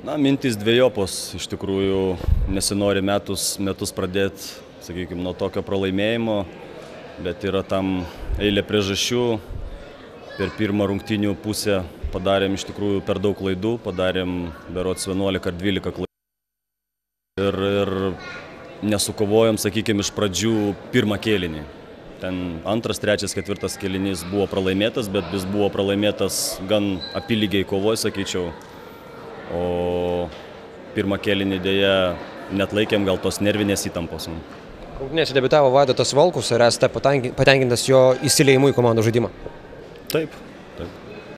Na, mintys dviejopos, iš tikrųjų nesinori metus pradėti, sakykime, nuo tokio pralaimėjimo, bet yra tam eilė priežasčių. Per pirmą rungtynių pusę padarėm iš tikrųjų per daug klaidų, padarėm berods 11 ar 12 klaidų. Ir nesukovojom, sakykime, iš pradžių pirmą kėlinį. Ten antras, trečias, ketvirtas kėlinys buvo pralaimėtas, bet jis buvo pralaimėtas gan apylygiai kovoj, sakyčiau. O pirmą kėlinį dėja neatlaikėm gal tos nervinės įtampos. Rungtynėse debiutavo Vaidotas Valkus, ar esate patenkintas jo įsiliejimu į komandos žaidimą? Taip.